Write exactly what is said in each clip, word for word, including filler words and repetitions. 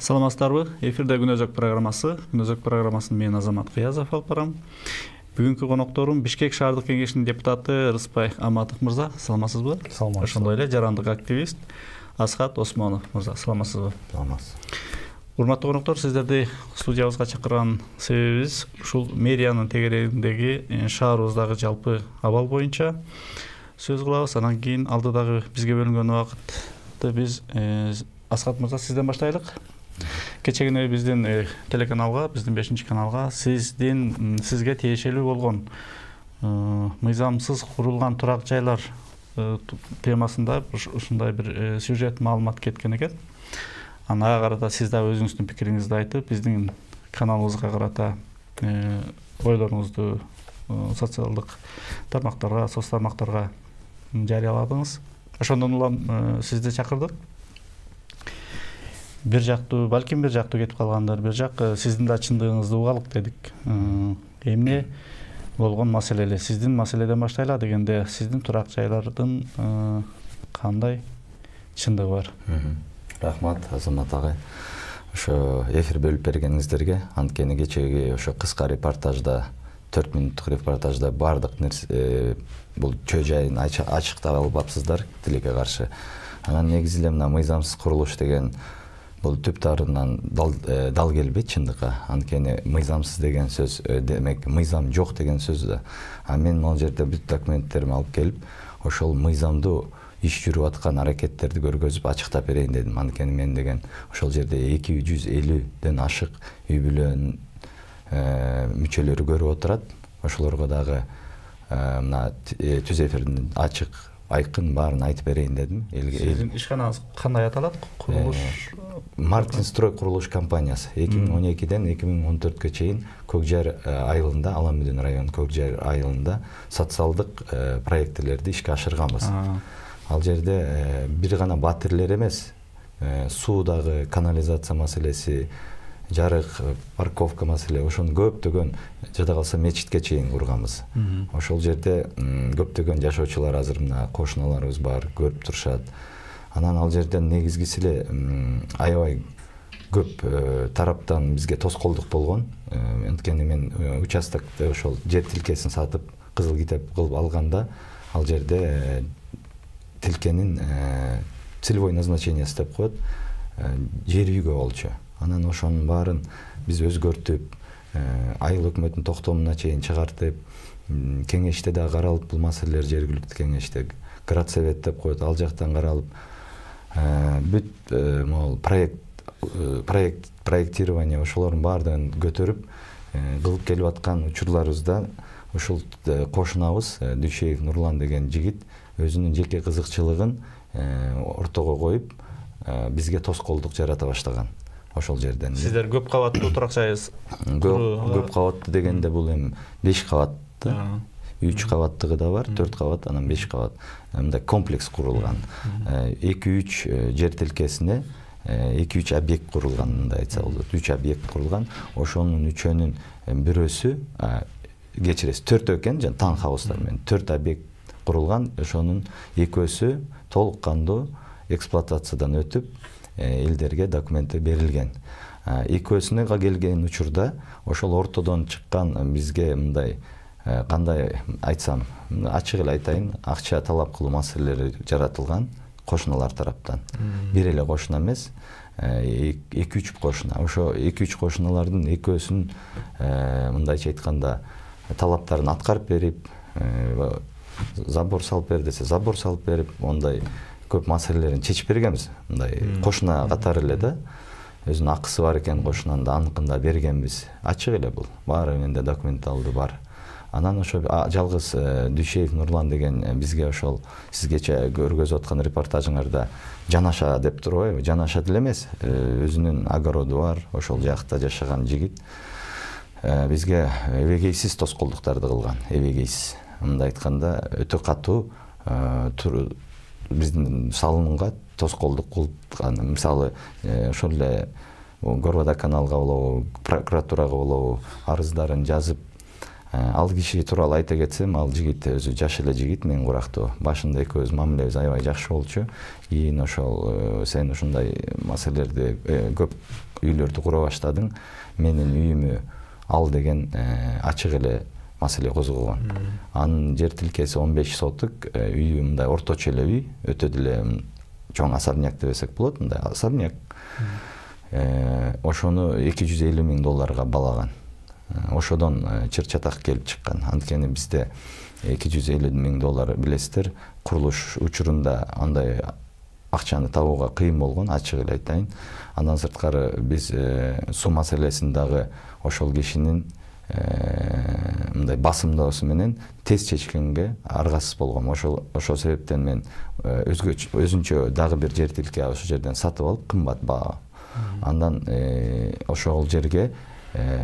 Саламатсыздарбы? Эфирде Күнөзөк программасы. Күнөзөк программасын мен Азамат Кыязов алып барам. Бүгүнкү конокторум Бишкек шаардык кеңешинин депутаты Рыспай Аматов мырза. Саламатсызбы? Саламатсыз. Ошондой эле жарандык активист Асхат Осмонов мырза. Саламатсызбы? Саламатсыз. Урматтуу коноктор, сиздерди студиябызга чакырган себебибиз ушул мэриянын тегерегиндеги шаарыбыздагы жалпы абал боюнча сөз кылабыз. Анан кийин алдыдагы бизге бөлүнгөн убакытты биз Асхат мырза сизден баштайлык. Кечегине биздин телеканалга, биздин бешинчи каналга сиздин сизге тиешелүү болгон мыйзамсыз курулган турак жайлар темасында ушундай бир сюжет маалымат кеткен экен. Ага карата сиз да өзүңүздүн пикириңизди айтып, биздин каналыбызга карата ойлоруңузду социалдык тармактарга, соц тармактарга жарыяладыңыз. Ошондон улам сизди чакырдык. Бир жактуу, балким бир жактуу кетип калгандар, бир жак сиздин да чындыгыңызды угалык дедик. Эмне болгон маселе эле? Сиздин маселеден баштайлы дегенде, сиздин турак жайлардын кандай чындыгы бар? Рахмат, Азамат агай. Ошо эфир бөлүп бергениңиздерге, анткени кечеги ошо кыска репортажда, төрт мүнөттүк репортажда бардык нерсе бул чөө жайын ачыктап албапсыздар тилекке каршы. Анан негизи эле мына мыйзамсыз курулуш деген бул түп тарынан дал, дал келбейт чындыкка. Анткени мыйзамсыз деген сөз демек мыйзам жок деген сөз да. А мен могу жерде бүт документтеримди алып келип, ошол мыйзамдуу иш жүрүп аткан аракеттерди көргөзүп ачыктап берейин дедим. Анткени мен деген ошол жерде эки жүз элүүдөн ашык үй бүлөнүн мүчөлөрү көрүп отурат. Ошолорго дагы мына түз эфирдин ачык айкын баарын айтып берейин дедим. Сиздин ишканаңыз кандай аталат? Курулуш Мартин Строй курулуш компаниясы эки миң он экиден эки миң он төрткө чейин Көкжайыр айылында, Аламүдүн районунун Көкжайыр айылында социалдык проектилерди ишке ашырганбыз. Ал жерде бир гана батирлер эмес, суудагы канализация маселеси, жарык, парковка маселе, ошону көптөгөн, жада калса мечитке чейин курганбыз. Ошол жерде көптөгөн жашоочулар азыр мына кошуналарыбыз бар, көрүп турушат. Анан ал жерден негизгиси эле аябай көп тараптан бизге тоскоолдук болгон. Анткени мен участокто ошол жер тилкесин сатып, кызыл китеп кылып алганда, ал жерде тилкенин целевой назначениясы деп коет, жер үйгө болчу. Анан ошонун баарын биз өзгөртүп, айыл өкмөтүнүн токтомуна чейин чыгартып, кеңеште да каралып, бул маселелер жергиликтүү кеңеште градсовет деп коет, ал жактан каралып, бүт могул проект проект проектирование ошолордун баардыгын көтөрүп кылып келип аткан учурларыбызда ушул кошунабыз Дүйшеев Нурлан деген жигит өзүнүн жеке кызыкчылыгын ортого коюп, бизге тоскоолдук жарата баштаган. Ошол жерден. Сиздер көп кабаттуу турак жайсыз? Көп кабаттуу дегенде бул эми беш кабатты, үч кабаттыгы да бар, төрт кабат, анан беш кабат. Мындай комплекс курулган. эки үч жер тилкесине эки үч объект курулган, мындай айтса болот. үч объект курулган. Ошонун үчөөнүн бирөөсү, кечиресиз, төртөө экен, жана таунхаустар менен төрт объект курулган. Ошонун экөөсү толук кандуу эксплуатациядан өтүп, элдерге документи берилген. Экөөсүнө келген учурда ошол ортодон чыккан бизге мындай кандай айтсам, ачык эле айтайын, акча талап кылуу маселелери жаратылган кошуналар тараптан. Бир эле кошуна эмес, эки үч кошуна. Ошо эки үч кошуналардын экөөсүн мындайча айтканда талаптарын аткарып берип, забор салып бер десе забор салып берип, ондай көп маселелерин чечип бергенбиз. Мындай кошуна катары эле да, өзүнүн акысы бар экен кошунанын да аныкында бергенбиз. Ачык эле бул. Баары менде документалды бар. Анан ошо жалгыз Дүйшеев Нурлан деген бизге ошол сизгече көргөзүп аткан репортажыңарда жанаша деп турбайбы? Жанаша деле эмес, өзүнүн огороду бар, ошол жакта жашаган жигит бизге эбегейсиз тоскоолдуктарды кылган. Эбегейсиз. Мындай айтканда өтө катуу биздин салымга тоскоолдук кылган. Мисалы, ошол эле Горводоканалга болобу, прокуратурага болобу арыздарын жазып, Ал киши тууралуу айта кетсем, ал жигит өзү жаш эле жигит, мен курактуу. Башында экөөбүз мамилебиз аябай жакшы болчу. Кийин ошол сен ушундай маселелерди көп үйлөрдү кура баштадың, менин үйүмү ал деген ачык эле маселе козгогон. Анын жер тилкеси он беш соток, үйү мындай орточо эле үй, өтө деле чоң особняк десек болот, мындай особняк. Ошону эки жүз элүү миң долларга балаган. Ошодон чыр чатак келип чыккан. Анткени бизде эки жүз элүү миң доллар билесиздер, курулуш учурунда андай акчаны табууга кыйын болгон, ачык эле айтайын. Андан сырткары биз суу маселесин дагы ошол кишинин мындай басымдоосу менен тез чечкенге аргасыз болгом. Ошол ошол себептен мен өзгөчө өзүнчө дагы бир жер тилке ошол жерден сатып алып, кымбат баа. Андан ошол жерге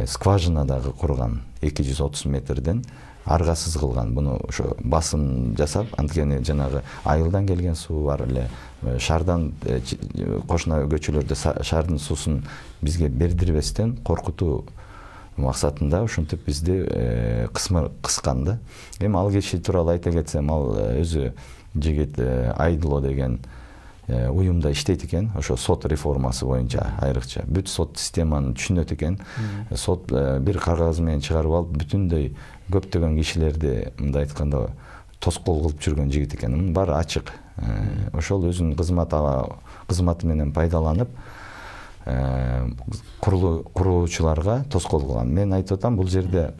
скважина дагы курган, эки жүз отуз метрден аргасыз кылган. Буну ошо басым жасап, анткени жанагы айылдан келген суу бар эле, шаардан кошуна көчөлөрдө шаардын суусун бизге бердирбестен коркутуу максатында ушинтип бизди кыскан да. Эми ал киши тууралуу айта кетсем, ал өзү жигит Айдыло деген уюмда иштейт экен, ошо сот реформасы боюнча айрыкча бүт сот системаны түшүнөт экен. Сот бир кагаз менен чыгарып алып, бүтүндөй көптөгөн кишилерди мындай айтканда тоскоол кылып жүргөн жигит экен. Мунун баары ачык. Ошол өзүнүн кызмат кызматы менен пайдаланып курулуучуларга тоскоол кылган. Мен айтып атам, бул жерде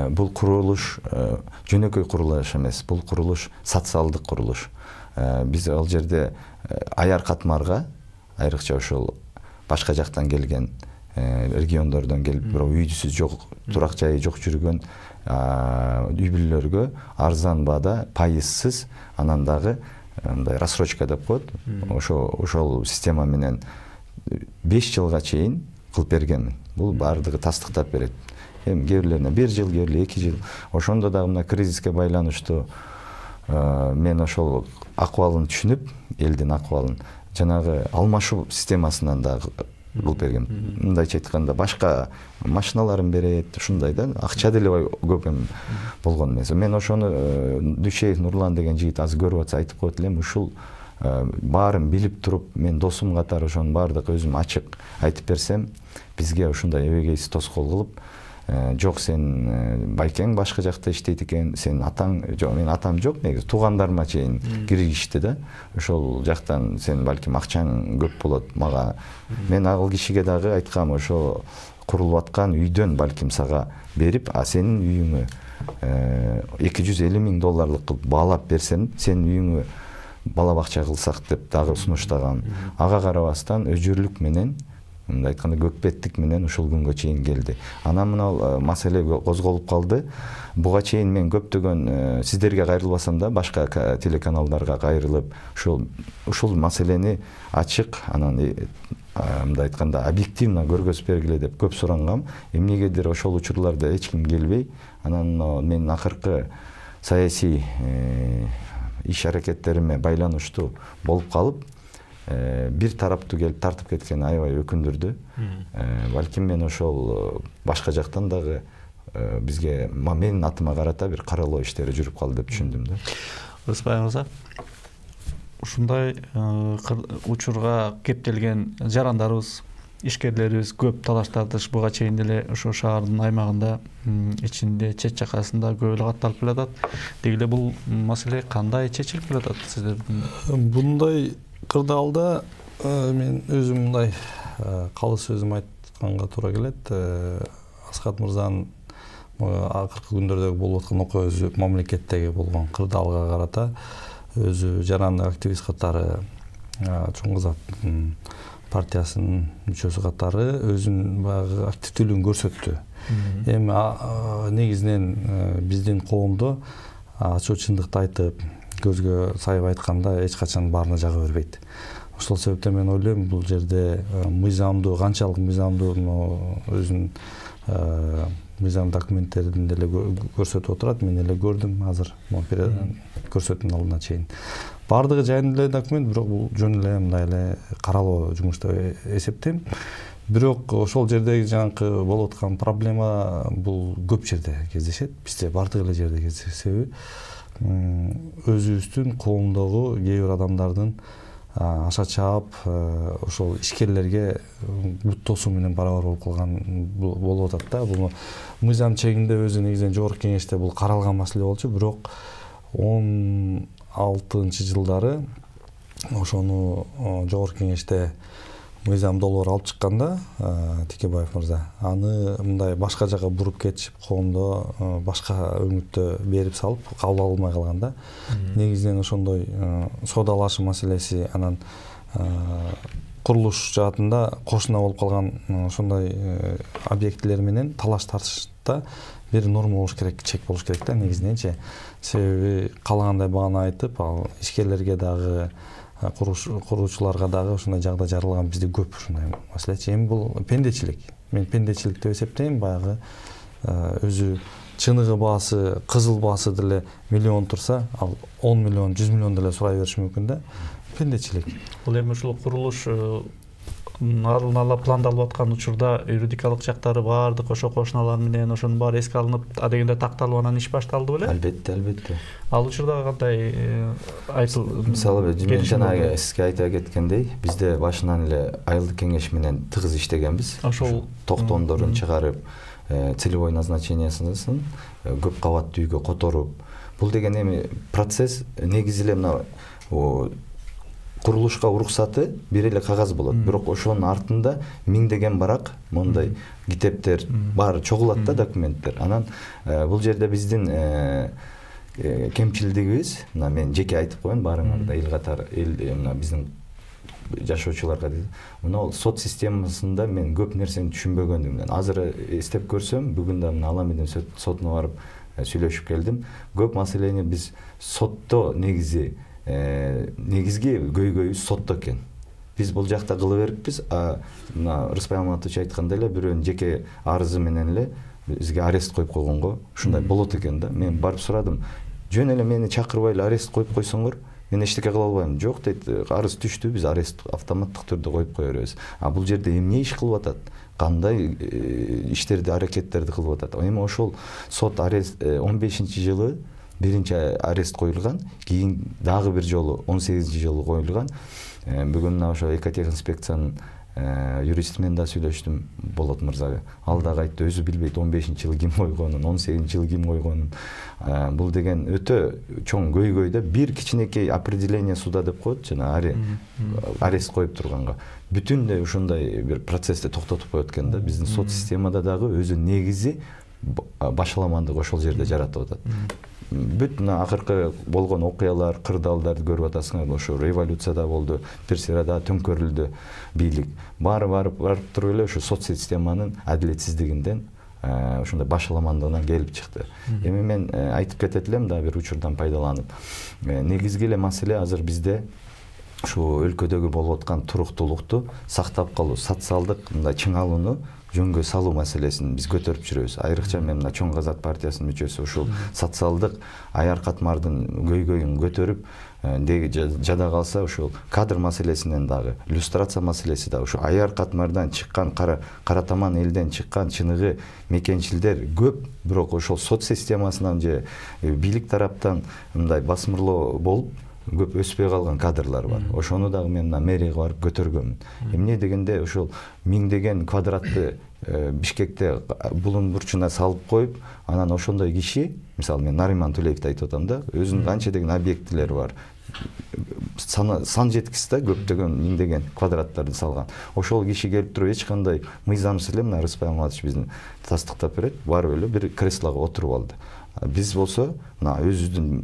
бул курулуш жөнөкөй курулуш эмес, бул курулуш социалдык курулуш. Биз ал жерде аяр катмарга, айрыкча ошол башка жактан келген, региондордон келип, бирок үйдүсү жок, турак жайы жок жүргөн үй бүлөлөргө арзан баада, пайызсыз, анан дагы мындай рассрочка деп коет. Ошо ошол система менен беш жылга чейин кылып бергенмин. Бул баардыгы тастыктап берет. Эми кээ бирлерине бир жыл, кээ бирлери эки жыл. Ошондо дагы мына кризиске байланыштуу мен ошол акыбалын түшүнүп, элдин акыбалын жанагы алмашуу системасынан да кылып бергем. Мындайча айтканда, башка машиналарын берет, ушундай да, акча деле көп эми болгон эмес. Мен ошону Дүйшеев Нурлан деген жигит азыр көрүп атса айтып коет элем, ушул баарын билип туруп, мен досум катары ошонун баардык өзүм ачык айтып берсем, бизге ушундай эбегейсиз тоскоол кылып, жок, сен байкең башка жакта иштейт экен, сен атаң, жок, мен атам жок, негизи туугандарыма чейин киргизишти да. Ошол жактан сен балким акчаң көп болот мага. Мен ал кишиге дагы айткам, ошо курулуп аткан үйдөн балким сага берип, а сенин үйүңө эки жүз элүү миң долларлык кылып баалап берсем, сенин үйүңө бала бакча кылсак деп дагы сунуштагам. Ага карабастан өжүрлүк менен, мындай айтканда көкбеттик менен ушул күнгө чейин келди. Анан мына маселе козголуп калды. Буга чейин мен көптөгөн сиздерге кайрылбасам да, башка телеканалдарга кайрылып, ушул ушул маселени ачык, анан мындай айтканда объективно көргөзүп бергиле деп көп сурангам. Эмнегедир ошол учурларда эч ким келбей, анан менин акыркы саясий иш аракеттериме байланыштуу болуп калып, бир тараптуу келип тартып кеткени аябай өкүндүрдү. Балким мен ошол башка жактан дагы бизге менин атыма карата бир каралоо иштери жүрүп калды деп түшүндүм да. Рыспай мырза, ушундай учурга кептелген жарандарыбыз, ишкерлерибиз көп талаштардыш буга чейин деле ошо шаардын аймагында, ичинде, чет жакасында көп эле катталып келатат. Деги эле бул маселе кандай чечилип келатат сиздердин? Bunday кырдаалда мен өзүм мындай калыс сөзүм айтканга туура келет. Аскат мырзанын акыркы күндөрдөгү болуп аткан окуя өзү мамлекеттеги болгон кырдаалга карата өзү жарандык активист катары, Чоң Казактын партиясынын мүчөсү катары өзүнүн баягы активдүүлүгүн көрсөттү. Эми негизинен биздин коомдо ачуу чындыкты айтып, көзгө сайып айтканда эч качан баарына жага бербейт. Ошол себептен мен ойлойм, бул жерде мыйзамдуу, канчалык мыйзамдуу өзүнүн мыйзам документтерин деле көрсөтүп отурат. Мен эле көрдүм азыр, көрсөтүүнүн алдына чейин. Бардыгы жайында эле документ, бирок бул жөн эле мындай эле каралоо жумуш деп эсептейм. бирок ошол жердеги жанакы болуп аткан проблема бул көп жерде кездешет, бизде бардык эле жерде кездешет. Себеби өзүбүздүн коомдогу кээ бир адамдардын аша чаап ошол ишкерлерге буттоосу менен барабар болуп калган болуп атат да. Бул мыйзам чегинде өзү негизинен жогорку кеңеште бул каралган маселе болчу, бирок он алтынчы жылдары ошону жогорку кеңеште мыйзам долбоор алып чыкканда Текебаев мырза аны мындай башка жака буруп кетишип, коомдо башка өңүттө берип салып кабыл алынбай калган да. Негизинен ошондой соодалашуу маселеси, анан курулуш жаатында кошуна болуп калган ошондой объектилер менен талаш тартышта бир норма болуш керек, чек болуш керек да негизиненчи. Себеби каалагандай бааны айтып, ал ишкерлерге дагы куруучуларга дагы ушундай жагдай жаралган бизде көп ушундай маселечи. Эми бул пендечилик. Мен пендечилик деп эсептейм. Баягы өзү чыныгы баасы, кызыл баасы деле миллион турса, ал он миллион, жүз миллион деле сурай бериши мүмкүн да. Пендечилик. Бул эми ушул курулуш алдын ала пландалып аткан учурда юридикалык жактары баардык ошо кошуналар менен ошонун баары эске алынып, адегенде такталып анан иш башталды беле? Албетте, албетте. Ал учурда кандай айтыл? Мисалы, мен жанагы сизге айта кеткендей, бизде башынан эле айылдык кеңеш менен тыгыз иштегенбиз. Ошол токтомдорун чыгарып, целевой назначениясын көп кабаттуу үйгө которуп, бул деген эми процесс негизи эле мына курулушка уруксаты бир эле кагаз болот, бирок ошонун артында миңдеген барак мондай китептер баары чогулат да, документтер. Анан бул жерде биздин кемчилдигибиз, мына мен жеке айтып коеюн баарыңарда, эл катары, эл мына биздин жашоочуларга дейт. Мына сот системасында мен көп нерсени түшүнбөгөндүгүмдөн. Азыр эстеп көрсөм, бүгүн да мына Алам Эдем сотуна барып сүйлөшүп келдим. Көп маселени биз сотто негизи негизги көйгөйүбүз сотто экен. Биз бул жакта кыла бериппиз, а мына Рыспай Алматович айткандай эле бирөөнүн жеке арызы менен эле бизге арест коюп койгонго ушундай болот экен да. Мен барып сурадым, жөн эле мени чакырбай эле арест коюп койсоңор, мен эчтеке кыла албайм. Жок дейт, арыз түштү, биз арест автоматтык түрдө коюп кое беребиз. А бул жерде эмне иш кылып атат? Кандай иштерди, аракеттерди кылып атат? Эми ошол сот арест он бешинчи жылы биринчи арест коюлган, кийин дагы бир жолу он сегизинчи жылы коюлган. Бүгүн мына ошо экотехинспекциянын юристи менен да сүйлөштүм, Болот мырзага. Ал дагы айтты, өзү билбейт он бешинчи жылы ким койгонун, он сегизинчи жылы ким койгонун. Бул деген өтө чоң көйгөй да. Бир кичинекей определение суда деп коет, жана арест коюп турганга. Бүтүндөй ушундай бир процессти токтотуп коет экен да. Биздин сот системада дагы өзү негизи башаламандык ошол жерде жаратып атат. Бүт мына акыркы болгон окуялар, кырдаалдарды көрүп атасыңар, ошо революцияда болду, Персерада төңкөрүлдү бийлик. Баары барып барып туруп эле ошо сот системанын адилетсиздигинден, ошондой башаламандыгынан келип чыкты. Эми мен айтып кетет элем да бир учурдан пайдаланып. Негизги эле маселе азыр бизде ушу өлкөдөгү болуп аткан туруктуулукту сактап калуу, социалдык мындай чыңалууну жөнгө салуу маселесин биз көтөрүп жүрөбүз. Айрыкча мен мына Чоң Казак партиясынын мүчөсү ушул социалдык аяр катмардын көйгөйүн көтөрүп, жада калса ушул кадр маселесинен дагы, иллюстрация маселеси да, ушу аяр катмардан чыккан, кара таман элден чыккан чыныгы мекенчилдер көп, бирок ошол сот системасынан же бийлик тараптан мындай басмырлоо болуп көп өспөй калган кадрлар бар. Ошону дагы мен мына мэрияга барып көтөргөмүн. Эмне дегенде ошол миңдеген квадратты Бишкекте булун бурчуна салып коюп, анан ошондой киши, мисалы мен Нариман Тулеевди айтып атам да, өзүнүн канча деген объектилери бар. Сан жеткис да, көптөгөн миңдеген квадраттарды салган. Ошол киши келип туруп эч кандай мыйзамсыз эле мына Рыспай Алматович биздин тастыктап берет, барып эле бир креслого отуруп алды. Биз болсо мына өзүбүздүн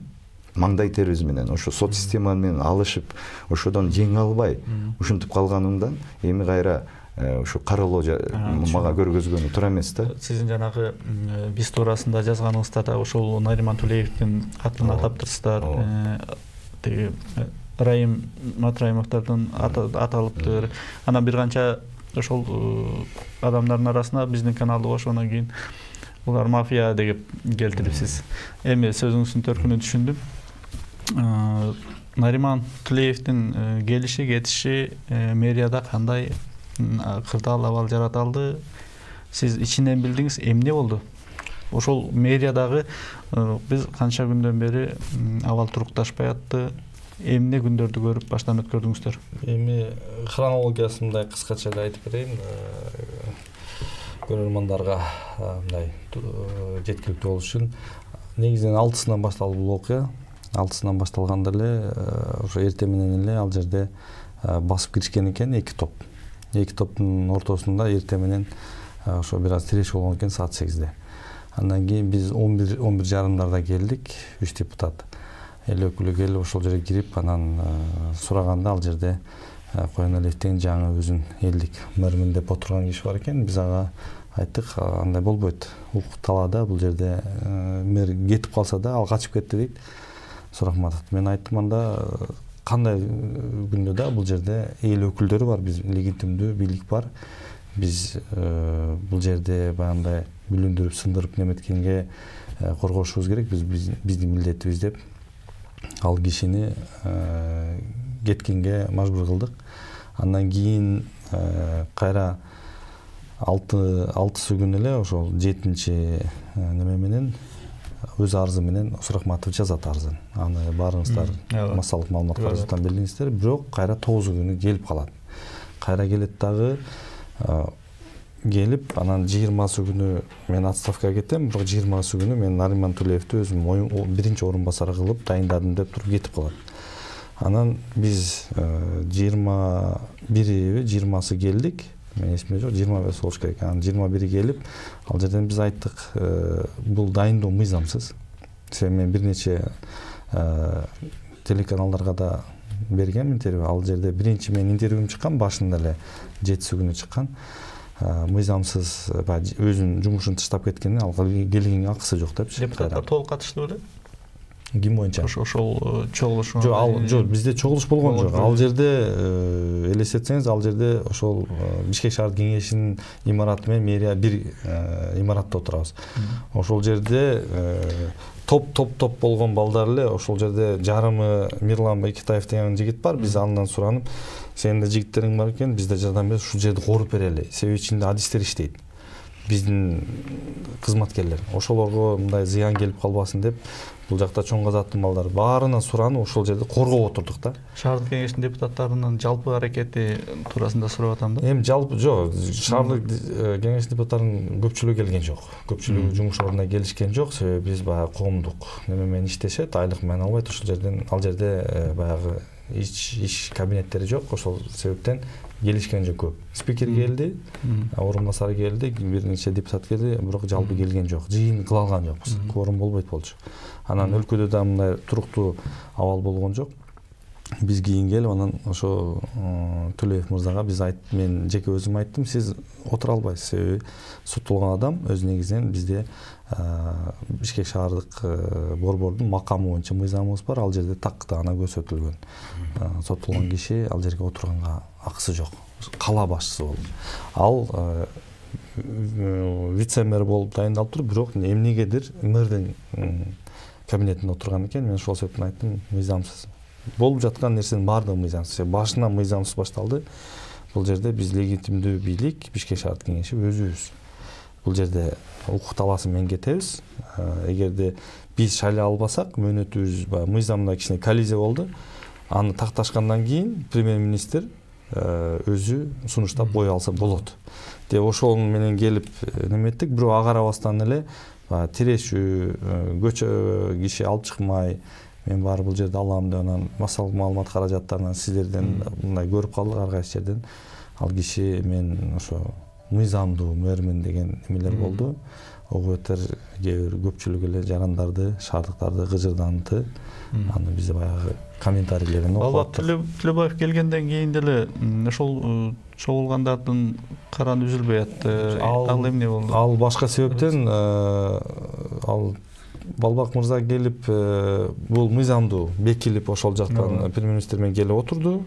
маңдай терибиз менен ошо сот система менен алышып, ошодон жеңе албай ушинтип калганымдан эми кайра ушу каралоо мага көргөзгөнү туура эмес да. Сиздин жанагы биз туурасында жазганыңызда да ошол Нариман Тулеевдин атын атап турсуздар, тиги Райым Матраимовдордун аталыптыр. Анан бир канча ошол адамдардын арасына биздин каналды кошгондон кийин булар мафия деп келтирипсиз. Эми сөзүңүздүн төркүнүн түшүндүм. Нариман Тулеевдин келиши, кетиши мэрияда кандай кырдаал абал жаратылды. Сиз ичинен билдиңиз, эмне болду? Ошол мэриядагы биз канча күндөн бери абал турукташпай атты. Эмне күндөрдү көрүп баштан өткөрдүңүздөр? Эми хронологиясын мындай кыскача айтып берейин. Көрөрмандарга мындай жеткиликтүү болуш үчүн негизинен алтысынан башталды бул окуя. алтысынан башталганда эле ошо эртең менен эле ал жерде басып киришкен экен эки топ. Эки топтун ортосунда эртең менен ошо бир аз тирешүү болгон экен саат сегизде. Андан кийин биз он бир он бир жарымдарда келдик, үч депутат. Эл өкүлү келип ошол жерге кирип, анан сураганда ал жерде Коеналиевдин жаңы өзүн элдик мэрмин деп отурган киши бар экен. Биз ага айттык, андай болбойт. Укук талаада бул жерде мэр кетип калса да ал качып кетти дейт Сурахматов. Мен айттым, анда кандай күндө да бул жерде эл өкүлдөрү бар, биз легитимдүү бийлик бар. Биз бул жерде баягындай бүлүндүрүп, сындырып неметкенге коргошубуз керек. Биз биздин милдетибиз деп ал кишини кеткенге мажбур кылдык. Андан кийин кайра алтысы күнү эле ошол жетинчи неме менен өз арызы менен Сурахматов жазат арызын. Аны баарыңыздар массалык маалымат каражаттан билдиңиздер. Бирок кайра тогузу күнү келип калат. Кайра келет дагы келип, анан жыйырмасы күнү мен отставкага кетем, бирок жыйырмасы күнү мен Нариман Тулеевди өзүм биринчи орун басары кылып дайындадым деп туруп кетип калат. Анан биз жыйырма бири жыйырмасы келдик. Мен эсимде жок, жыйырма беш болуш керек. Анан жыйырма бири келип, ал жерден биз айттык, бул дайындоо мыйзамсыз. Себеби мен бир нече телеканалдарга да бергем интервью. Ал жерде биринчи мен интервьюм чыккан, башында эле жетиси күнү чыккан. Мыйзамсыз өзүнүн жумушун таштап кеткени, ал келгенге акысы жок депчи. Депутаттар толук катышты беле? Ким боюнча? Ошол чогулуш. Жок, ал жок, бизде чогулуш болгон жок. Ал жерде элестетсеңиз, ал жерде ошол Бишкек шаардык кеңешинин имараты менен мэрия бир имаратта отурабыз. Ошол жерде топ топ топ болгон балдар эле, ошол жерде жарымы Мирлан Бекетаев деген жигит бар. Биз андан суранып, сенин да жигиттериң бар экен, бизде жардам бер, ушул жерди коруп берели. Себеби ичинде адистер иштейт. Биздин кызматкерлер. Ошолорго мындай зыян келип калбасын деп, бул жакта чоң казаттын балдары баарынан суранып, ошол жерде коргоп отурдук да. Шаардык кеңештин депутаттарынын жалпы аракети туурасында сурап атам да. Эми жалпы жок, шаардык кеңештин депутаттарынын көпчүлүгү келген жок. Көпчүлүгү жумуш ордуна келишкен жок, себеби биз баягы коомдук неме менен иштешет, айлык менен албайт. Ошол жерден ал жерде баягы иш иш кабинеттери жок, ошол себептен келишкен жок көп. Спикер келди, орун басары келди, бир нече депутат келди, бирок жалпы келген жок. Жыйын кыла алган жокпуз. Кворум болбойт болчу. Анан өлкөдө да мындай туруктуу абал болгон жок. Биз кийин келип, анан ошо Төлөев мырзага биз айт, мен жеке өзүм айттым, сиз отура албайсыз, себеби соттолгон адам өз негизинен бизде Бишкек шаардык борбордун макамы боюнча мыйзамыбыз бар, ал жерде такты ана көрсөтүлгөн. Соттолгон киши ал жерге отурганга акысы жок. Кала башчысы болду. Ал вице-мэр болуп дайындалып туруп, бирок эмнегедир мэрдин кабинетинде отурган экен. Мен ошол себептен айттым, мыйзамсыз. Болуп жаткан нерсенин баардыгы мыйзамсыз. Башынан мыйзамсыз башталды. Бул жерде биз легитимдүү бийлик, Бишкек шаардык кеңеши өзүбүз. Бул жерде укук талаасы менен кетебиз. Эгерде биз шайлай албасак, мөөнөтүбүз мыйзамда кичине коллизия болду. Аны такташкандан кийин премьер-министр өзү сунуштап кое алса болот деп ошол менен келип неметтик. Бирок ага карабастан эле тирешүү көчө киши алып чыкмай, мен баары бул жерде алам деп, анан массалык маалымат каражаттарынан сиздерден мындай көрүп калдык, ар кайсы жерден ал киши мен ошо мыйзамдуу мэрмин деген эмелер болду. Огуэтер кээ бир көпчүлүк эле жарандарды, шаардыктарды кыжырданты. Аны бизде баягы комментарийлерин окуп аттык. Төлөбаев келгенден кийин деле ошол чогулгандардын караны үзүлбөй атты. Ал эмне болду? Ал башка себептен, ал Балбак мырза келип, бул мыйзамдуу бекилип ошол жактан премьер-министр менен келип отурду.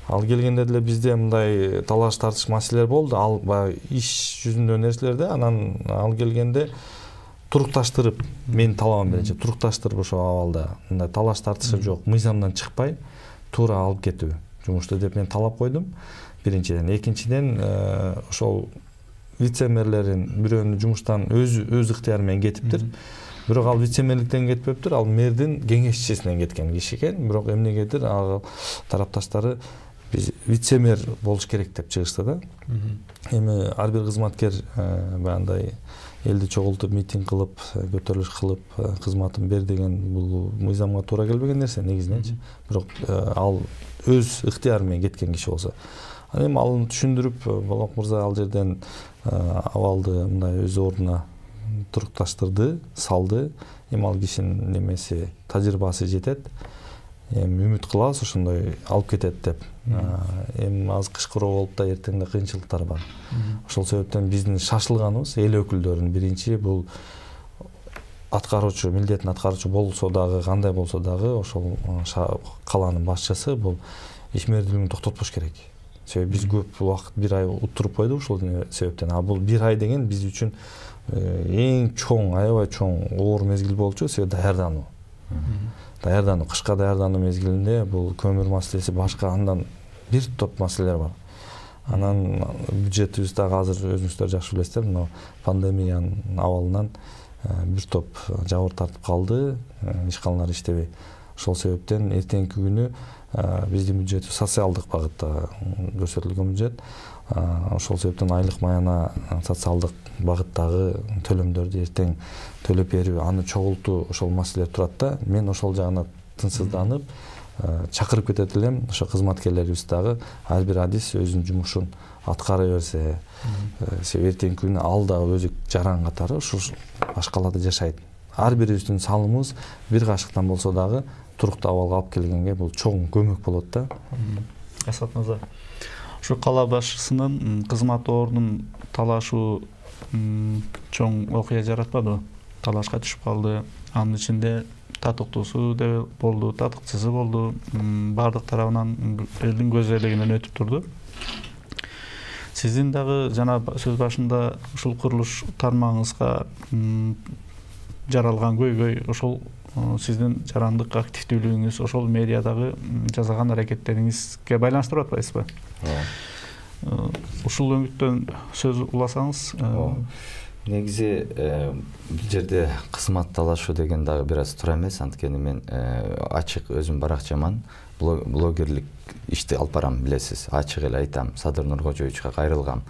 Ал келгенде деле бизде мындай талаш тартыш маселелер болду. Ал баягы иш жүзүндө нерселер да, анан ал келгенде турукташтырып, мен талабым мененче турукташтырып ошол абалда мындай талаш тартышы жок, мыйзамдан чыкпай туура алып кетүү. жумушту деп мен талап койдум. Биринчиден, экинчиден ошол вице-мэрлерин бирөөнү жумуштан өз өз ыктыяры менен кетиптир. Бирок ал вице-мэрликтен кетпептир, ал мэрдин кеңешчисинен кеткен киши экен. Бирок эмнегедир ал тарапташтары биз вице-мэр болуш керек деп чыгышты да. Эми ар бир кызматкер баягындай элди чогултуп митинг кылып, көтөрүлүш кылып, кызматын бер деген бул мыйзамга туура келбеген нерсе негизиненчи. Бирок ал өз ыктыяры менен кеткен киши болсо, эми аны түшүндүрүп, Болок мырза ал жерден абалды мындай өз ордуна турукташтырды, салды. Эми ал кишинин немеси, тажрыйбасы жетет. Эми үмүт кылабыз ошондой алып кетет деп. Эми азыр кышкыруу болуп да эртең да кыйынчылыктар бар. Ошол себептен биздин шашылганыбыз эл өкүлдөрүнүн биринчи бул аткаруучу, милдетин аткаруучу болсо дагы, кандай болсо дагы ошол калаанын башчысы бул ишмердүүлүгүн токтотпош керек. Себеби биз көп убакыт бир ай утуруп койдук ушул себептен. А бул бир ай деген биз үчүн эң чоң, аябай чоң оор мезгил болчу, себеби даярдануу. Даярдануу, кышка даярдануу мезгилинде бул көмүр маселеси, башка андан бир топ маселелер бар. Анан бюджетибиз дагы азыр өзүңүздөр жакшы билесиздер, мына пандемиянын абалынан бир топ жабыр тартып калды, ишканалар иштебей. Ошол себептен эртеңки күнү биздин бюджет социалдык багытта көрсөтүлгөн бюджет. Ошол себептен айлык маяна социалдык багыттагы төлөмдөрдү эртең төлөп берүү, аны чогултуу, ошол маселелер турат да. Мен ошол жагына тынчсызданып, чакырып кетет элем. Ошо кызматкерлерибиз дагы ар бир адис өзүнүн жумушун аткара берсе, себеби эртеңки күнү ал дагы өзү жаран катары ушу башкаларда жашайт. Ар бирибиздин салымыбыз бир кашыктан болсо дагы туруктуу абалга алып келгенге бул чоң көмөк болот да. Асхат мырза, ушу кала башчысынын кызмат ордунун талашуу чоң окуя жаратпадыбы? Талашка түшүп калды. Анын ичинде татыктуусу да болду, татыкчысы болду. Бардык тарабынан элдин көз элегинен өтүп турду. Сиздин дагы жана сөз башында ушул курулуш тармагыңызга жаралган көйгөй, ошол сиздин жарандык активдүүлүгүңүз, ошол мэриядагы жасаган аракеттериңизге байланыштырып атпайсызбы? Ушул өңүттөн сөз уласаңыз. Негизи бул жерде кызмат талашуу деген дагы бир аз туура эмес, анткени мен ачык өзүм баракчаман блогерлик ишти алып барам, билесиз. Ачык эле айтам, Садыр Нуркожоевичке кайрылгам.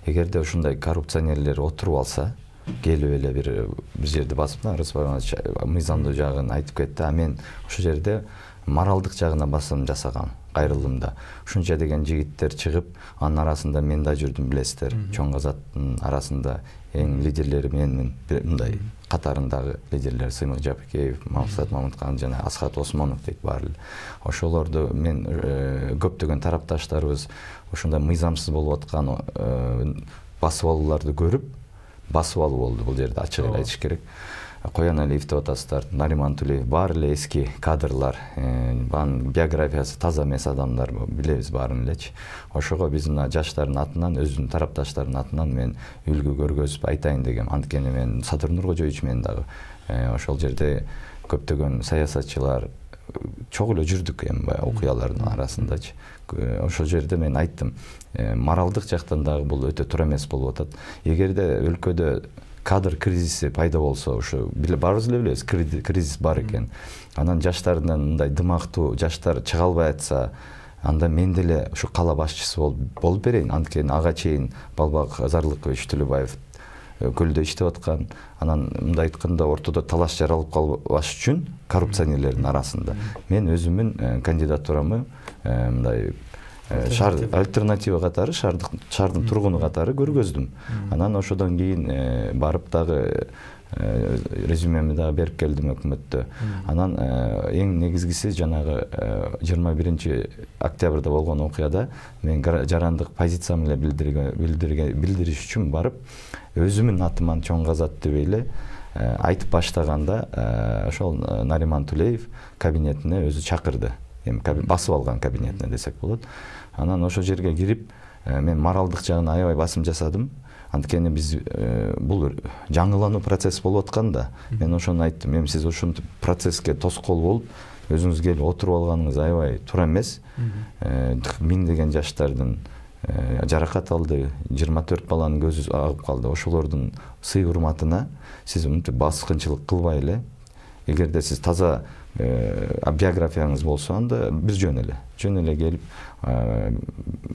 Эгерде ушундай коррупционерлер отуруп алса, келип эле бир бир жерди басып, Рыспай Иванович мыйзамдуу жагын айтып кетти, а мен ошол жерде моралдык жагына басым жасагам, кайрылдым да. Ушунча деген жигиттер чыгып, анын арасында мен да жүрдүм, билесиздер. Чоң Казаттын арасында эң лидерлери менин мындай катарындагы лидерлер Сыймык Жапыкеев, Мамсат Мамыткан жана Асхат Осмонов дейт баары. Ошолорду мен көптөгөн тарапташтарыбыз ушундай мыйзамсыз болуп аткан басып алууларды көрүп, басып алуу болду бул жерде, ачык эле айтыш керек. Коян Алиев деп атасыздар, Нариман Тулеев, баары эле эски кадрлар, анын биографиясы таза эмес адамдар, билебиз баарын элечи. Ошого биз мына жаштардын атынан, өзүнүн тарапташтарынын атынан мен үлгү көргөзүп айтайын дегем. Анткени мен Садыр Нуркожоевич менен дагы ошол жерде көптөгөн саясатчылар чогуу эле жүрдүк эми баягы окуялардын арасындачы. Ошол жерде мен айттым, моралдык жактан дагы бул өтө туура эмес болуп атат. Эгерде өлкөдө кадр кризиси пайда болсо, ушу баарыбыз эле билебиз, кризис бар экен. Анан жаштардан мындай дымактуу жаштар чыга албай атса, анда мен деле ушу кала башчысы болуп берейин. Анткени ага чейин Балбак Зарлыкович Төлөбаев көлдө иштеп аткан. Анан мындай айтканда ортодо талаш жаралып калбаш үчүн коррупционерлердин арасында мен өзүмүн кандидатурамы мындай шаар альтернатива катары, шаардын тургуну катары көргөздүм. Анан ошодон кийин барып дагы резюмеми дагы берип келдим өкмөттө. Анан эң негизгиси жанагы жыйырма биринчи октябрда болгон окуяда мен жарандык позициямды билдириш үчүн барып, өзүмүн атыман Чоң Казат деп эле айтып баштаганда ошол Нариман Тулеев кабинетине өзү чакырды. Эми басып алган кабинетине десек болот. Анан ошол жерге кирип, мен моралдык жагына аябай басым жасадым. Анткени биз бул жаңылануу процесси болуп атканда мен ошону айттым. Эми сиз ушинтип процесске тоскоол болуп өзүңүз келип отуруп алганыңыз аябай туура эмес. Миңдеген жаштардын жаракат алды, жыйырма төрт баланын көзү агып калды. Ошолордун сый урматына сиз мынтип баскынчылык кылбай эле, эгерде сиз таза биографияңыз болсо, анда бир жөн эле жөн эле келип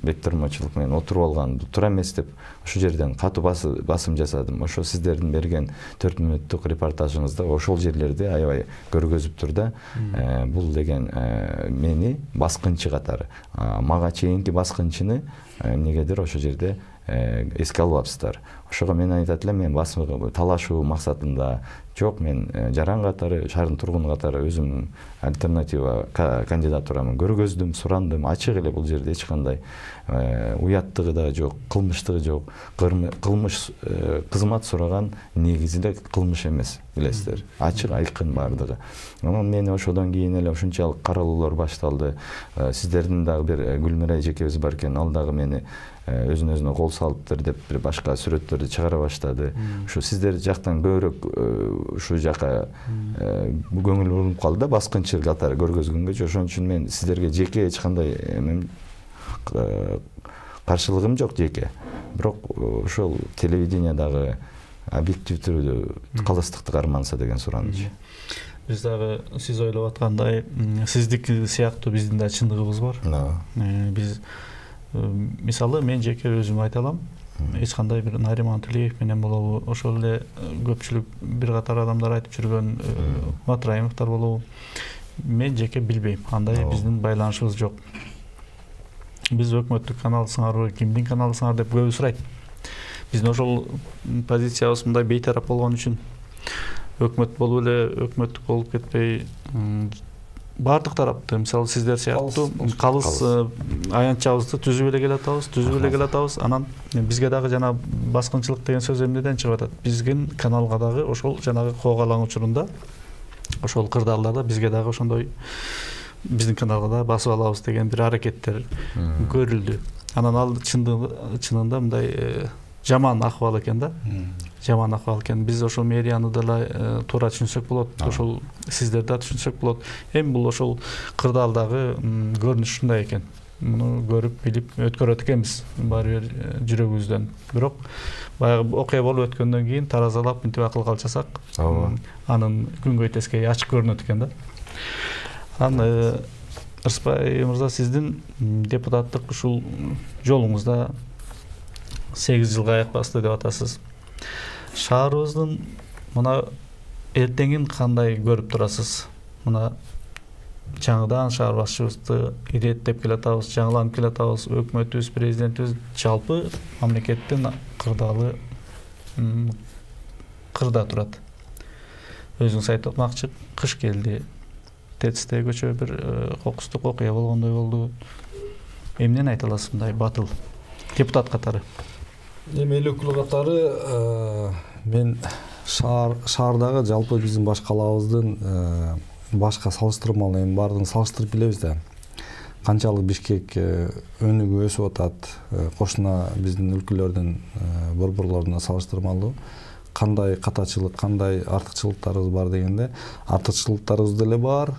беттормочулук менен отуруп алган туура эмес деп ошол жерден катуу басым жасадым. Ошо сиздердин берген төрт мүнөттүк репортажыңызда ошол жерлерди аябай көргөзүптүр да. Бул деген мени баскынчы катары, мага чейинки баскынчыны эмнегедир ошол жерде эске албапсыздар. Ошого мен айтат элем, мен басым талашуу максатында жок, мен жаран катары, шаардын тургуну катары өзүм альтернатива кандидатурамы көргөздүм, сурандым. Ачык эле бул жерде эч кандай уяттыгы да жок, кылмыштыгы жок. Кылмыш кызмат сураган негизинде кылмыш эмес, билесиздер. Ачык айкын бардыгы. Анан мен ошодон кийин эле ушунчалык каралуулар башталды. Сиздердин дагы бир Гүлмира эжекебиз бар экен, ал дагы мени өзүн өзүнө кол салыптыр деп бир башка сүрөттөрдү чыгара баштады. Ушу сиздер жактан көбүрөөк ушу жака көңүл бурулуп калды да, баскынчы катары көргөзгөнгөчү. Ошон үчүн мен сиздерге жеке эч кандай каршылыгым жок жеке. Бирок ошол телевидениядагы объективдүү калыстыкты карманса деген сураныч. Биз дагы сиз ойлоп аткандай сиздики сыяктуу биздин да чындыгыбыз бар. Биз мисалы мен жеке өзүм айта алам, эч кандай бир Нариман Тилеев менен болобу, ошол эле көпчүлүк бир катар адамдар айтып жүргөн Матраимовдор болобу, мен жеке билбейм. Андай биздин байланышыбыз жок. Биз өкмөттүк каналысыңарбы, кимдин каналысыңар деп көбү сурайт. Биздин ошол позициябыз мындай бейтарап болгон үчүн өкмөт болуп эле өкмөттүк болуп кетпей, бардык тарапты, мисалы сиздер сыяктуу калыс аянтчабызды түзүп эле келатабыз, түзүп эле келатабыз. Анан бизге дагы жана баскынчылык деген сөз эмнеден чыгып атат? Биздин каналга дагы ошол жанагы Коогалаң учурунда ошол кырдаалдарда бизге дагы ошондой биздин каналга да басып алабыз деген бир аракеттер көрүлдү. Анан ал чынында мындай жаман акыбал экен да. Жаман акыбал экен. Биз ошол мэрияны да туура түшүнсөк болот, ошол сиздер да түшүнсөк болот. Эми бул ошол кырдаалдагы көрүнүш ушундай экен. Муну көрүп билип өткөрөт экенбиз баары бир жүрөгүбүздөн. Бирок баягы окуя болуп өткөндөн кийин таразалап мынтип акыл калчасак, анын күнгөй тескеи ачык көрүнөт экен да. Анан Ырысбай мырза, сиздин депутаттык ушул жолуңузда сегиз жылга аяк басты деп атасыз. Шаарыбыздын мына эртеңин кандай көрүп турасыз? Мына жаңыдан шаар башчыбызды иреттеп келатабыз, жаңыланып келатабыз, өкмөтүбүз, президентибиз, жалпы мамлекеттин кырдаалы кырда турат. Өзүңүз айтып атмакчы, кыш келди, ТЭЦте көчө бир кокустук окуя болгондой болду. Эмнени айта аласыз мындай батыл депутат катары? Эми эл өкүлү катары мен шаардагы жалпы биздин баш калаабыздын башка салыштырмалуу эми баардыгын салыштырып билебиз да. Канчалык Бишкек өнүгүп өсүп атат, кошуна биздин өлкөлөрдүн борборлоруна салыштырмалуу кандай катачылык, кандай артыкчылыктарыбыз бар дегенде, артыкчылыктарыбыз деле бар,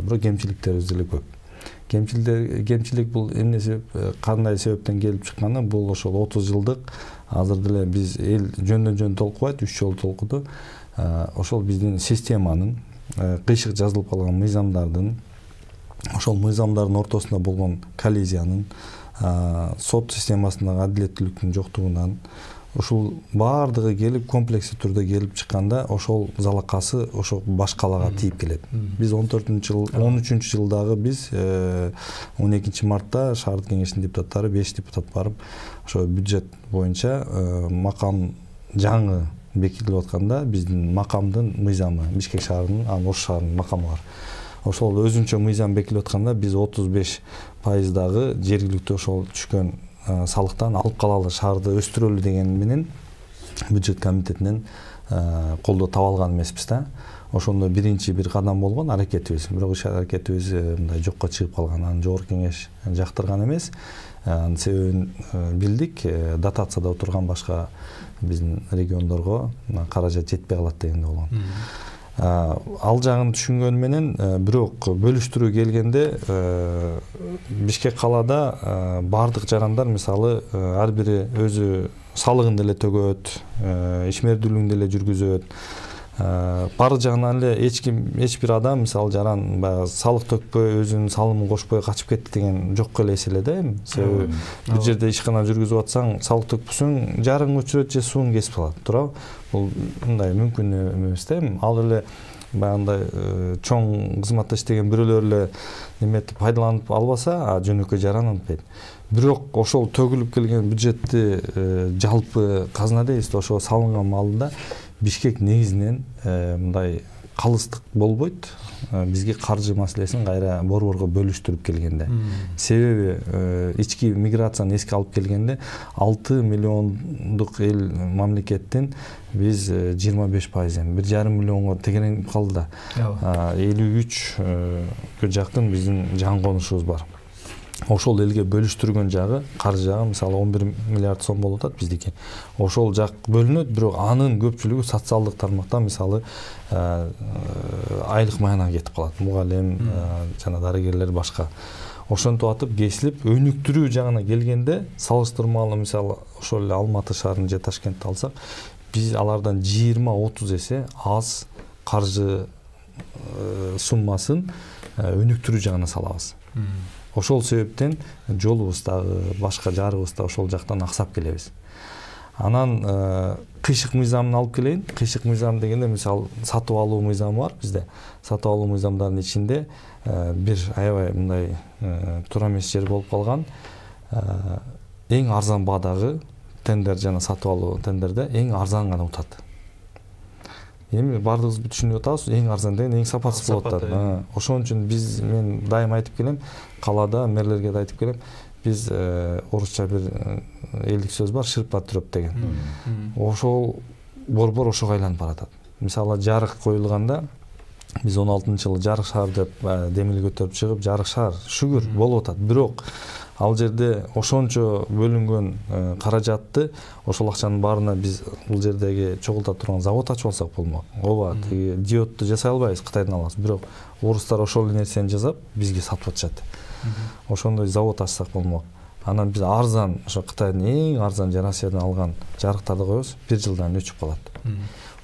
бирок кемчиликтерибиз деле көп. Кемчилик бул эмне, кандай себептен келип чыкканы, бул ошол отуз жылдык азыр деле биз эл жөндөн-жөн толкубайт, үч жолу толкуду. Ошол биздин системанын, кыйшык жазылып калган мыйзамдардын, ошол мыйзамдардын ортосунда болгон коллизиянын, сот системасындагы адилеттүүлүктүн жоктугунан, ушул баардыгы келип комплекстүү түрдө келип чыкканда ошол залакасы ошол баш калаага тийип келет. Биз он төртүнчү жыл, он үчүнчү жылдагы биз он экинчи мартта шаардык кеңештин депутаттары беш депутат барып ошо бюджет боюнча макам жаңы бекитилип атканда биздин макамдын мыйзамы, Бишкек шаарынын, анан Ош шаарынын макамы бар. Ошол өзүнчө мыйзам бекитилип атканда биз отуз беш пайыздагы жергиликтүү ошол түшкөн салыктан алып калалы, шаарды өстүрөлү деген менен бюджет комитетинен колдоо таба алган эмеспиз да. ошондо биринчи бир кадам болгон аракетибиз. Бирок иш аракетибиз мындай жокко чыгып калган. Аны жогорку кеңеш жактырган эмес. Анын себебин билдик. Дотацияда отурган башка биздин региондорго каражат жетпей калат дегенде болгон. Ал жагын түшүнгөн менен, бирок бөлүштүрүү келгенде Бишкек калаада бардык жарандар мисалы ар бири өзү салыгын деле төгөт, ишмердүүлүгүн деле жүргүзөт. Бардык жагынан эле эч ким, эч бир адам мисалы жаран баягы салык төкпөй, өзүнүн салымын кошпой качып кетти деген жок эле эс эле да эми. Себеби бир жерде ишкана жүргүзүп атсаң, салык төкпөсөң, жарың өчүрөт же сууң кесип калат, туурабы? Бул мындай мүмкүн эмес да эми. Ал эле баягындай чоң кызматта иштеген бирөөлөр эле неметип пайдаланып албаса, жөнөкөй жаран антпайт. Бирок ошол төгүлүп келген бюджетти жалпы казна дейбиз, ошо салынган маалында Бишкек негизинен мындай калыстык болбойт. Бизге каржы маселесин кайра борборго бөлүштүрүп келгенде. Себеби ички миграцияны эске алып келгенде алты миллиондук эл мамлекеттин биз жыйырма беш пайызын бир жарым миллионго тегеренип калды да. элүү үчкө жакын биздин жан конушубуз бар. Ошол элге бөлүштүргөн жагы, каржы жагы мисалы он бир миллиард сом болуп атат биздики. Ошол жак бөлүнөт, бирок анын көпчүлүгү социалдык тармактан мисалы айлык маянага кетип калат. Мугалим, жана дарыгерлер башка. Ошентип атып кесилип, өнүктүрүү жагына келгенде, салыштырмалуу мисалы ошол эле Алматы шаарын же Ташкентти алсак, биз алардан жыйырма отуз эсе аз каржы суммасын өнүктүрүү жагына салабыз. Ошол себептен жолубуз дагы, башка жарыбыз да ошол жактан аксап келебиз. Анан кыйшык мыйзамын алып келейин. Кыйшык мыйзам дегенде мисалы сатып алуу мыйзамы бар бизде. Сатып алуу мыйзамдарынын ичинде бир аябай мындай туура эмес жер болуп калган. Эң арзан баадагы тендер жана сатып алуу тендерде эң арзан гана утат. Эми бардыгыбыз түшүнүп атабыз, эң арзан деген эң сапатсыз болуп атат. Ошон үчүн биз мен дайым айтып келем, калаада мэрлерге да айтып келем, биз орусча бир элдик сөз бар, шырпа түрөп деген. Ошол борбор ошого айланып баратат. Мисалы жарык коюлганда биз он алтынчы жылы жарык шаар деп демил көтөрүп чыгып, жарык шаар шүгүр болуп атат. Бирок ал жерде ошончо бөлүнгөн каражатты, ошол акчанын баарына биз бул жердеги чогулта турган завод ачып алсак болмок. Ооба, тиги диодду жасай албайбыз, Кытайдан алабыз. Бирок орустар ошол нерсени жасап, бизге сатып атышат. Ошондой завод ачсак болмок. Анан биз арзан, ошо Кытайдын эң арзан же Россиядан алган жарыктарды коебуз, бир жылдан өчүп калат.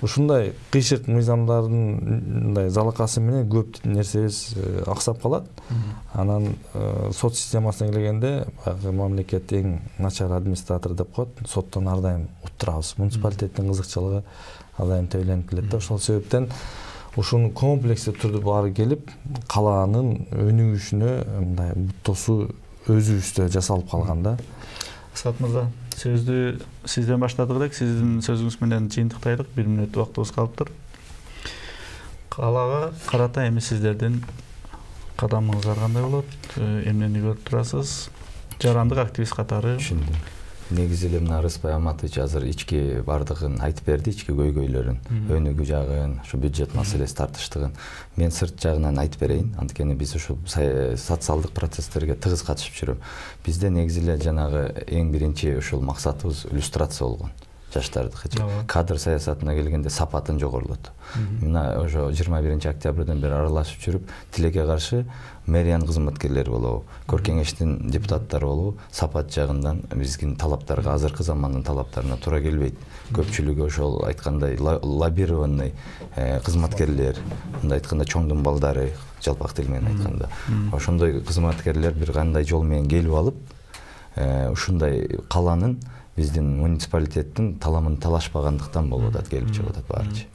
Ушундай кыйшык мыйзамдардын мындай залакасы менен көп нерсебиз аксап калат. Анан сот системасына келгенде, мамлекет эң начар администратор деп коет, соттон ар дайым уттурабыз. Муниципалитеттин кызыкчылыгы ар дайым төйленип келет да. Ошол себептен ушуну комплекстүү түрдө баары келип, калаанын өнүгүшүнө мындай буттосуу өзүбүздө жасалып калган да. Асхат мырза, сөздү сизден баштадык элек, сиздин сөзүңүз менен жыйынтыктайлык, бир мүнөт убактыбыз калыптыр. Калаага карата эми сиздердин кадамыңыздар кандай болот? Эмнени көрүп турасыз? Жарандык активист катары. Түшүндүм. Негизи эле мына Рыспай Аматович азыр ички бардыгын айтып берди, ички көйгөйлөрүн, өнүгүү жагын, ушу бюджет маселеси тартыштыгын. Мен сырт жагынан айтып берейин, анткени биз ушул социалдык процесстерге тыгыз катышып жүрөм. Бизде негизи эле жанагы эң биринчи ушул максатыбыз иллюстрация болгон. Жаштардыкычы. Кадр саясатына келгенде сапатын жогорулоту. Мына ошо жыйырма биринчи октябрдан бери аралашып жүрүп, тилекке каршы мэриянын кызматкерлери болобу, көркеңештин депутаттары болобу, сапат жагынан биздин талаптарга, азыркы замандын талаптарына туура келбейт. Көпчүлүгү ошол айткандай лоббированный кызматкерлер, мындай айтканда чоңдун балдары, жалпак тил менен айтканда. Ошондой кызматкерлер бир кандай жол менен келип алып, ушундай каланын биздин муниципалитеттин таламын талашпагандыктан болуп атат, келип чыгып атат баарычы.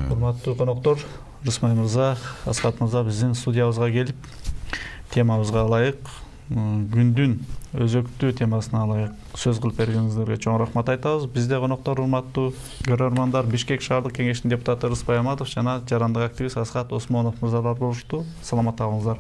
Урматтуу коноктор, Рыспай мырза, Асхат мырза биздин студиябызга келип, темабызга ылайык, күндүн өзөктүү темасына ылайык сөз кылып бергениңиздерге чоң рахмат айтабыз. Бизде коноктор, урматтуу көрөрмандар, Бишкек шаардык кеңештин депутаты Рыспай Аматов жана жарандык активист Асхат Осмонов мырзалар болушту. Саламатта калыңыздар.